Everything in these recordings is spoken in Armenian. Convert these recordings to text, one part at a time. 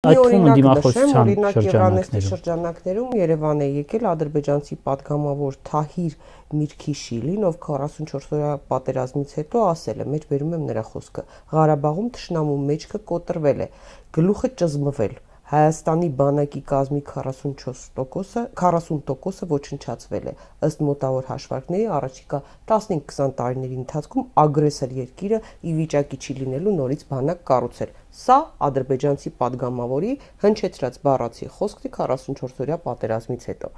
Այդ թվում դիմախոսության շրջանակներում Երևան է եկել ադրբեջանցի պատգամավոր Թահիր Միրքիշիլին, ով 44-օրյա պատերազմից հետո ասել է, մեջ բերում եմ նրա խոսքը, Ղարաբաղում թշնամու մեջքը կոտրվել է, գլուխը ճզմվել, Հայաստանի բանակի կազմի 40%-ը ոչնչացվել է, ըստ մոտավոր հաշվարկների առաջիկա 15-20 տարիների ընթացքում ագրեսոր երկիրը ի վիճակի չի լինելու նորից բանակ կառուցել։ Սա ադրբեջանցի պատգամավորի հնչեցրած բառացի խոսքն է 44-օրյա պատերազմից հետո։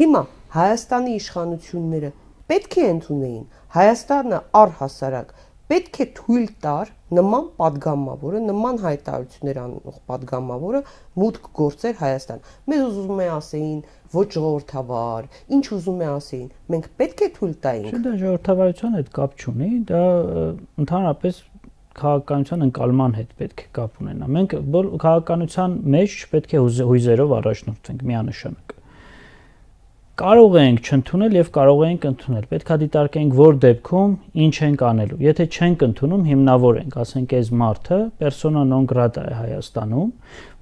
Հիմա Հայաստանի իշխանությունները պետք է ընդունեին, Հայաստանը առհասարակ պետք է թույլ տար նման պատգամավորը, նման հայտարարություններ անող պատգամավորը մուտք գործեր Հայաստան։ Մեզ ուզում է ասեին ոչ ժողովրդավար, ինչ ուզում է ասեին, մենք պետք է թույլ տայինք։ Դա ժողովրդավարության հետ կապ չունի, դա ընդհանրապես քաղաքականության ընկալման հետ պետք է կապ ունենա։ Մենք քաղաքականության մեջ պետք է հույզերով առաջնորդվենք միանշանակ։ Կարող ենք չընդունել եւ կարող ենք ընդունել։ Պետք է դիտարկենք որ դեպքում ինչ ենք անելու։ Եթե չենք ընդունում, հիմնավորենք, ասենք այս մարդը persona non grata է Հայաստանում,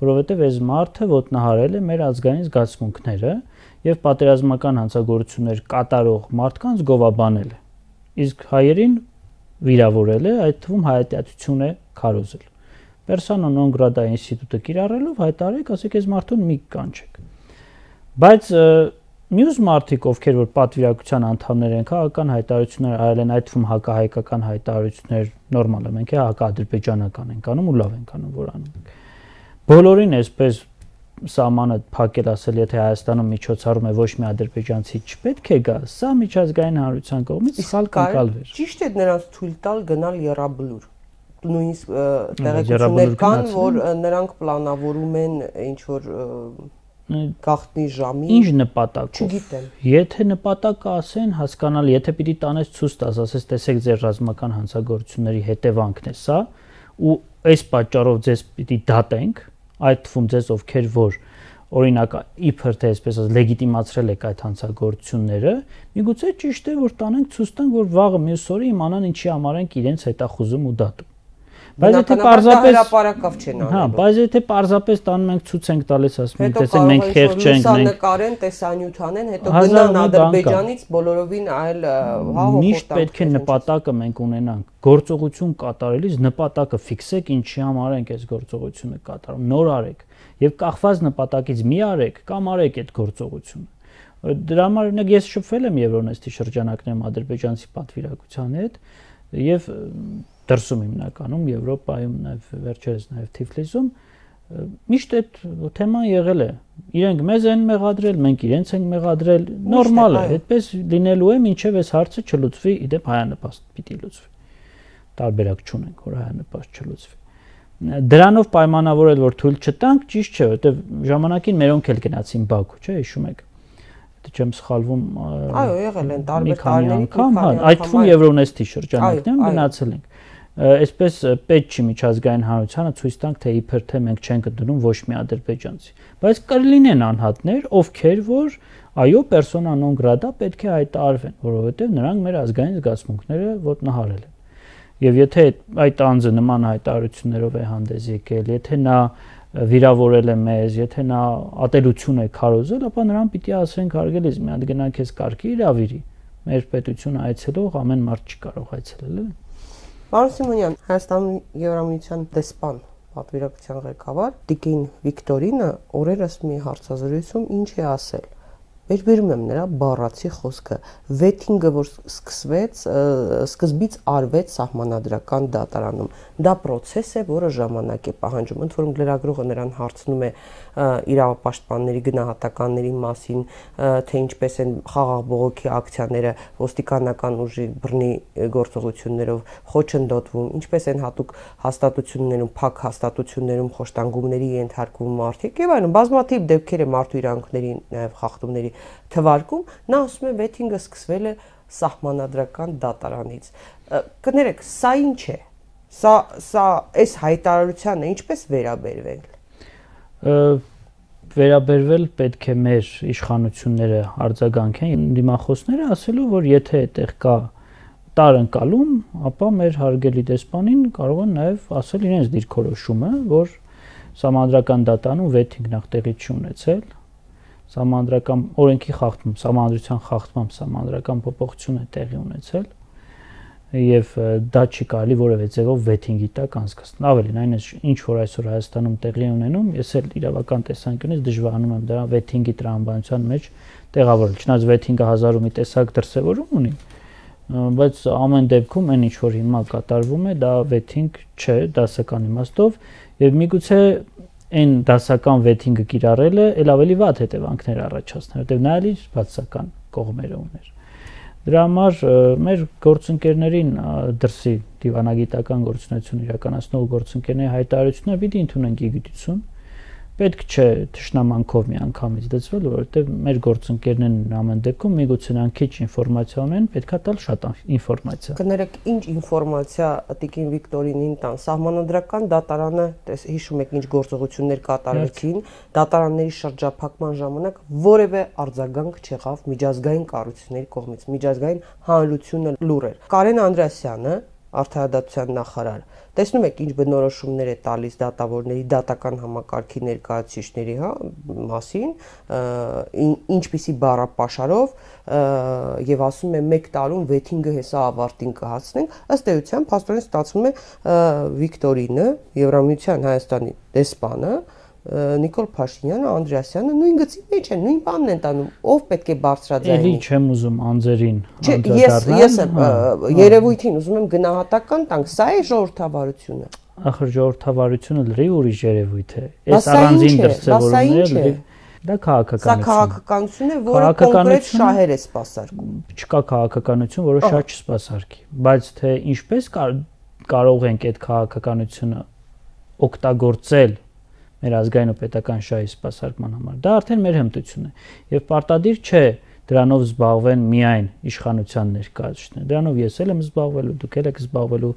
որովհետեւ այս մարդը ոտնահարել է մեր ազգային զգացմունքները եւ պատերազմական հանցագործություններ կատարող մարդկանց գովաբանել է։ Իսկ հայերին վիրավորել է, այդ թվում հայատյացություն է քարոզել։ Persona non grata ինստիտուտը կիրառելով հայտարարեք, ասեք այս մարդուն մի կանչեք։ Բայց Մյուս մարդիկ, ովքեր որ պատվիրակության անդամներ են, քաղաքական հայտարարություններ արել են, այդ թվում հակահայկական հայտարարություններ նորմալ է, մենք հակաադրբեջանական ենք անում ու լավ ենք անում, որ անում ենք։ Բոլորին այսպես սահմանը փակել ասել, եթե Հայաստանում միջոցառում է ոչ մի ադրբեջանցի չպետք է գա, սա միջազգային հանրության կողմից սխալ կընկալվեր։ Ճիշտ է նրանց թույլ տալ գնալ եռաբլուր։ Նույնիսկ տեղեկություններ կան, որ նրանք պլանավորում են ինչ որ գաղտնի ժամի ինչ նպատակով չգիտեմ եթե նպատակը ասեն հասկանալի եթե պիտի տանես ցույց տաս ասես տեսեք ձեր ռազմական հանցագործությունների հետևանքն է սա ու այս պատճառով ձեզ պիտի դատենք այդ թվում ձեզ ովքեր որ օրինակ իբր թե այսպես ասած լեգիտիմացրել եք այդ հանցագործությունները միգուցե ճիշտ է որ տանենք ցույց տանք որ վաղը մյուս օրը իմանան ինչի համար ենք իրենց հետախուզում ու դատում Բայց եթե պարզապես հրապարակավ չեն անում։ Հա, բայց եթե պարզապես տանում ենք ցույց ենք տալիս ասում ենք տեսեք մենք խեղճ ենք մենք նկարեն, տեսանյութ անեն, հետո գնան Ադրբեջանից բոլորովին այլ միշտ պետք է նպատակը մենք ունենանք գործողություն կատարելիս նպատակը ֆիքսեք ինչի համար ենք այս գործողությունը կատարում նոր արեք եւ կախված նպատակից մի արեք կամ արեք այդ գործողությունը դրա համար օրինակ ես շփվել եմ Եվրոնեստի շրջանակներում ադրբեջանցի պատվիրակության հետ եւ դրսում հիմնականում Եվրոպայում նաև վերջերս նաև Թիֆլիսում միշտ այդ թեման եղել է իրենք մեզ են մեղադրել մենք իրենց ենք մեղադրել նորմալ է այդպես լինելու է մինչև այս հարցը չլուծվի իդեպ հայանպաստ պիտի լուծվի տարբերակ չունենք որ հայանպաստ չլուծվի դրանով պայմանավորել որ թույլ չտանք ճիշտ չէ որովհետև ժամանակին մերոնք էլ գնացին Բաքու չէ հիշում եք Դե չեմ սխալվում այո եղել են տարբեր տարիների այդ թվում Եվրոնեստի շրջանակներում գնացել ենք Այսպես պետք չի միջազգային հանրությանը ցույց տանք թե իբր թե մենք չենք ընդունում ոչ մի ադրբեջանցի բայց կլինեն անհատներ ովքեր որ այո persona non grata պետք է հայտարարվեն որովհետև նրանք մեր ազգային զգացմունքները ոտնահարել են եւ եթե այդ անձը նման հայտարարություններով է հանդես եկել եթե նա վիրավորել է մեզ եթե նա ատելություն է քարոզել ապա նրան պիտի ասենք հարգելիս մի հատ գնա քեզ կարգի իրավիրի մեր պետությունը այցելող ամեն մարդ չի կարող այցելել Պարոն Սիմոնյան, Հայաստանի Եվրամիության դեսպան պատվիրակության ղեկավար Տիկին Վիկտորինը օրերս մի հարցազրույցում ինչ է ասել։ Վերբերում եմ նրա բառացի խոսքը վեթինգը որ սկսվեց սկզբից արվեց սահմանադրական դատարանում դա process է որը ժամանակ է պահանջում ընդ որում լրագրողը նրան հարցնում է իրավապաշտպանների գնահատականների մասին թե ինչպես են խաղաղ բողոքի ակցիաները ոստիկանական ուժի բռնի գործողություններով խոչընդոտվում ինչպես են հատուկ հաստատություններում փակ հաստատություններում խոշտանգումների ենթարկվում մարդիկ եւ այլն բազմաթիվ դեպքեր է մարդու իրավունքների նաեւ խախտումների թվարկում նա ասում է վեթինգը սկսվել է սահմանադրական դատարանից կներեք սա ինչ է սա այս հայտարարությանը ինչպես վերաբերվել վերաբերվել պետք է մեր իշխանությունները արձագանքեն դիմախոսները ասելով որ եթե այդտեղ կա տարընկալում ապա մեր հարգելի դեսպանին կարող են նաև ասել իրենց դիրքորոշումը որ Սահմանադրական դատարանում վեթինգ նախ տեղի չունեցել, սահմանադրական օրենքի խախտում, սահմանադրության խախտմամբ սահմանադրական փոփոխություն է տեղի ունեցել եւ դա չի կարելի որևէ ձևով վեթինգի տակ անցկացնել։ Ավելին, այն ինչ որ այսօր Հայաստանում տեղի ունենում, ես էլ իրավական տեսանկյունից դժվարանում եմ դրա վեթինգի տրամաբանության մեջ տեղավորել։ Չնայած վեթինգը 1000 ու մի տեսակ դրսևորում ունի, բայց ամեն դեպքում այն ինչ որ հիմա կատարվում է, դա վեթինգ չէ դասական իմաստով եւ միգուցե այն դասական վեթինգը կիրառելը ել ավելի վատ հետևանքներ առաջացներ, որտեղ նա էլ իր բացասական կողմերը ուներ։ Դրա համար մեր գործընկերներին դրսի դիվանագիտական գործունեություն իրականացնող գործընկերների հայտարարությունները պիտի ընդունենք իգիտություն։ Պետք չէ թշնամանքով միանգամից դծվել, որովհետև մեր գործընկերներն ամեն դեպքում միգուցե նրանք քիչ ինֆորմացիա ունեն, պետքա տալ շատ ինֆորմացիա։ Կներեք, ինչ ինֆորմացիա տիկին Վիկտորինին տան։ Սահմանադրական դատարանը, հիշում եք, ինչ գործողություններ կատարվեցին, դատարանների շրջափակման ժամանակ որևէ արձագանք չեղավ միջազգային կառույցների կողմից, միջազգային հանրությունը լուր էր։ Կարեն Անդրեասյանը, Արդարադատության նախարար, տեսնում եք ինչ բնորոշումներ է տալիս դատավորների դատական համակարգի ներկայացուցիչների մասին, ինչպիսի բառապաշարով եւ ասում է 1 տարում վեթինգը հեսա ավարտին կհասնենք, ըստ էության փաստորեն ստացվում է Վիկտորինը, Եվրամիության Հայաստանի դեսպանը, Նիկոլ Փաշինյանը, Անդրեասյանը նույն գծի մեջ են, նույն բանն են տանում, ով պետք է բարձրաձայնի։ Էլի չեմ ուզում անձերին Ես երևույթին ուզում եմ գնահատական տանք, սա է ժողովրդավարությունը։ Ախր ժողովրդավարությունը լրիվ ուրիշ երևույթ է։ Այս առանձին դրսևորումները լրիվ դա քաղաքականություն։ Սա քաղաքականություն է, որը կոնկրետ շահեր է սպասարկում։ Չկա քաղաքականություն, որը շատ չսպասարկի, բայց թե ինչպես կարող ենք այդ քաղաքականությունը օգտագործել մեր ազգային ու պետական շահի սպասարկման համար, դա արդեն մեր հմտությունն է եւ պարտադիր չէ դրանով զբաղվեն միայն իշխանության ներկայացուցիչները, դրանով ես էլ եմ զբաղվելու, դուք էլ եք զբաղվելու,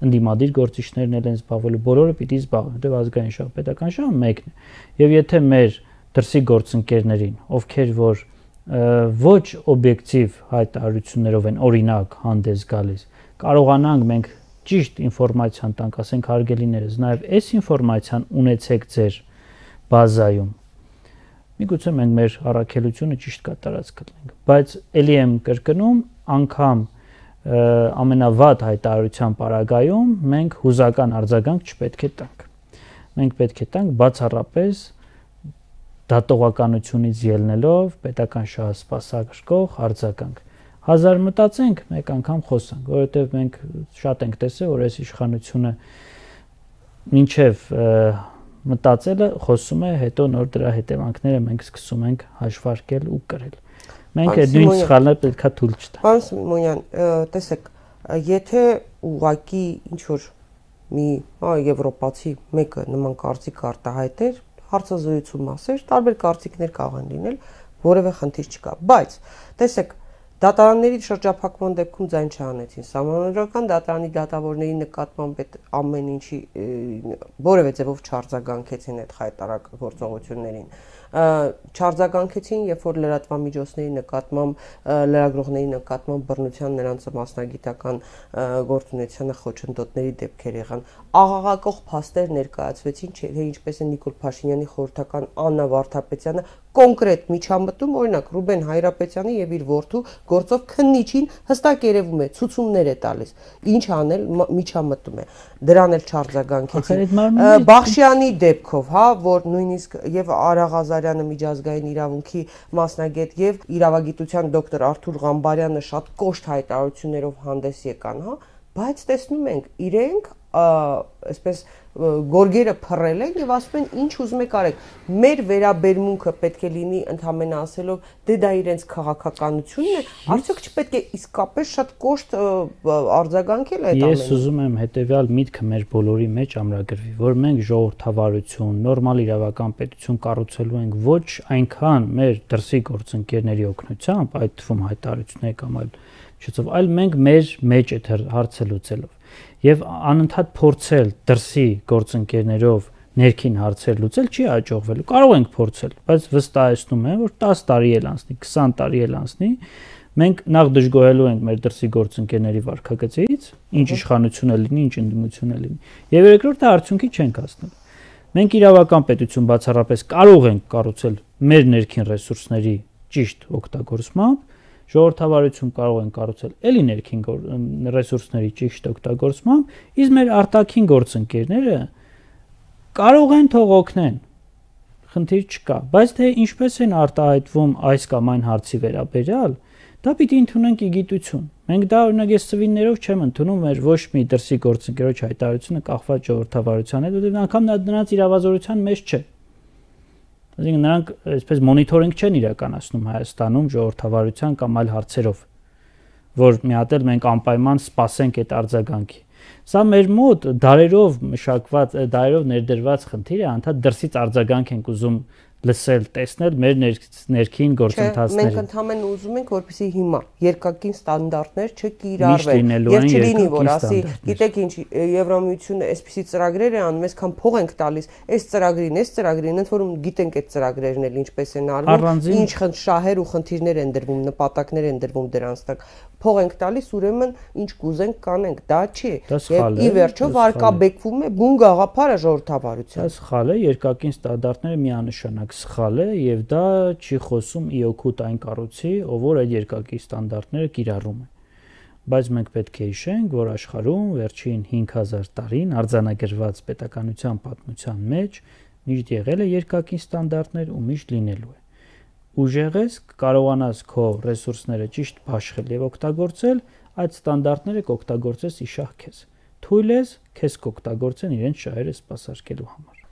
ընդդիմադիր գործիչներն էլ են զբաղվելու, բոլորը պիտի զբաղվեն, որտեղ ազգային շահ, պետական շահը մեկն է։ Եվ եթե մեր դրսի գործընկերներին, ովքեր որ ոչ օբյեկտիվ հայտարարություններով են օրինակ հանդես գալիս, կարողանանք մենք ճիշտ ինֆորմացիան տանք, ասենք հարգելիներս, նաև այս ինֆորմացիան ունեցեք ձեր բազայում։ Միգուցե մենք մեր առաքելությունը ճիշտ կատարած կլինենք, բայց ելի եմ կրկնում, անգամ ամենավատ հայտարարության պարագայում մենք հուզական արձագանք չպետք է տանք։ Մենք պետք է տանք բացառապես դատողականությունից ելնելով պետական շահը սպասարկող արձագանք։ 1000 մտածենք, մեկ անգամ խոսանք, որովհետև մենք շատ ենք տեսել, որ այս իշխանությունը մինչև մտածելը խոսում է, հետո նոր դրա հետևանքները մենք սկսում ենք հաշվարկել ու կրել։ Մենք այդ նույն սխալները պետքա թույլ չտանք։ Պարոն Սիմոնյան, տեսեք, եթե ուղղակի ինչ որ մի եվրոպացի մեկը նման կարծիք արտահայտեր, հարցազրույցում ասեր, տարբեր կարծիքներ կարող են լինել, որևէ խնդիր չկա, բայց տեսեք, դատարանների շրջափակման դեպքում ձայն չհանեցին, սահմանադրական դատարանի դատավորների նկատմամբ այդ ամեն ինչի որևէ ձևով չարձագանքեցին այդ խայտարակ գործողություններին, չարձագանքեցին, երբ որ լրատվամիջոցների նկատմամբ, լրագրողների նկատմամբ բռնության նրանց մասնագիտական գործունեությանը խոչընդոտների դեպքեր եղան, աղաղակող փաստեր ներկայացվեցին, թե ինչպես է Նիկոլ Փաշինյանի խորհրդական Աննա Վարդապետյանը կոնկրետ միջամտում, օրինակ Ռուբեն Հայրապետյանի եւ իր որդու գործով քննիչին հստակ երևում է, ցուցումներ է տալիս, ինչ անել միջամտում է, դրան էլ չարձագանքեցին։ Բախշյանի դեպքով, հա, որ նույնիսկ եւ Արա Ղազարյանը միջազգային իրավունքի մասնագետ եւ իրավագիտության դոկտոր Արթուր Ղամբարյանը շատ կոշտ հայտարարություններով հանդես եկան, հա, բայց տեսնում ենք իրենք այսպես գորգերը փռել են եւ ասում են ինչ ուզում եք արեք, մեր վերաբերմունքը պետք է լինի ընդհանրապես ասելով դե դա իրենց քաղաքականությունն է, արդյոք չպետք է իսկապես շատ կոշտ արձագանքել այդ ամենը։ Ես ուզում եմ հետեւյալ միտքը մեր բոլորի մեջ ամրագրվի, որ մենք ժողովրդավարություն, նորմալ իրավական պետություն կառուցելու ենք ոչ այնքան մեր դրսի գործընկերների օգնությամբ, այդ թվում հայտարարությունների կամ այլ չծով, այլ մենք մեր մեջ այդ հարցը լուծելով եւ անընդհատ փորձել դրսի գործընկերներով ներքին հարցեր լուծել չի հաջողվելու։ Կարող ենք փորձել, բայց վստահեցնում եմ, որ 10 տարի էլ անցնի, 20 տարի էլ անցնի, մենք նախ դժգոհելու ենք մեր դրսի գործընկերների վարքագծից, ինչ իշխանություն է լինի, ինչ ընդդիմություն է լինի։ Եվ երկրորդը արդյունքի չենք հասնելու։ Մենք իրավական պետություն բացառապես կարող ենք կառուցել մեր ներքին ռեսուրսների ճիշտ օգտագործմամբ, ժողովրդավարություն կարող են կառուցել էլի ներքին ռեսուրսների ճիշտ օգտագործմամբ, իսկ մեր արտաքին գործընկերները կարող են թող օգնեն, խնդիր չկա, բայց թե ինչպես են արտահայտվում այս կամ այն հարցի վերաբերյալ, դա պիտի ընդունենք իգիտություն։ Մենք դա օրինակ ես ծվիններով չեմ ընդունում մեր ոչ մի դրսի գործընկերոջ հայտարարությունը կախված ժողովրդավարության հետ, որտեղ անգամ նրանց իրավազորության մեջ չէ։ Այսինքն նրանք այսպես մոնիթորինգ չեն իրականացնում Հայաստանում ժողովրդավարության կամ այլ հարցերով, որ մի հատ էլ մենք անպայման սպասենք այդ արձագանքի։ Սա մեր մոտ դարերով մշակված, դարերով ներդրված խնդիր է, անդադ դրսից արձագանք ենք ուզում լսել, տեսնել մեր ներքին գործընթացներին։ Մենք ընդհանրապես ուզում ենք, որպեսզի հիմա երկակին ստանդարտներ չկիրառվեն եւ չլինի, որ ասի, գիտեք ինչ, Եվրամիությունը այսպիսի ծրագրեր է անում, այսքան փող ենք տալիս, այս ծրագրին, ընդ որում գիտենք այդ ծրագրերն էլ ինչպես են արվում, ինչ շահեր ու խնդիրներ են դրվում, նպատակներ են դրվում դրանց տակ։ Փող ենք տալիս, ուրեմն ինչ կուզենք կանենք, դա չի։ Եվ ի վերջո վարկաբեկվում է բուն գաղափարը ժողովրդավարության։ Դա սխալ է, երկակին ստանդարտները միանշանակ սխալ է եւ դա չի խոսում ի օգուտ այն կառույցի, ով որ այդ երկակի ստանդարտները կիրառում է։ Բայց մենք պետք է հիշենք, որ աշխարհում վերջին 5000 տարին արձանագրված պետականության պատմության մեջ միշտ եղել է երկակի ստանդարտներ ու միշտ լինելու է։ Ուժեղ ես, կարողանաս քո ռեսուրսները ճիշտ բաշխել եւ օգտագործել, այդ ստանդարտները կօգտագործես իշահ քեզ։ Թույլ ես քեզ կօգտագործեն իրենց շահերը սպասարկելու համար։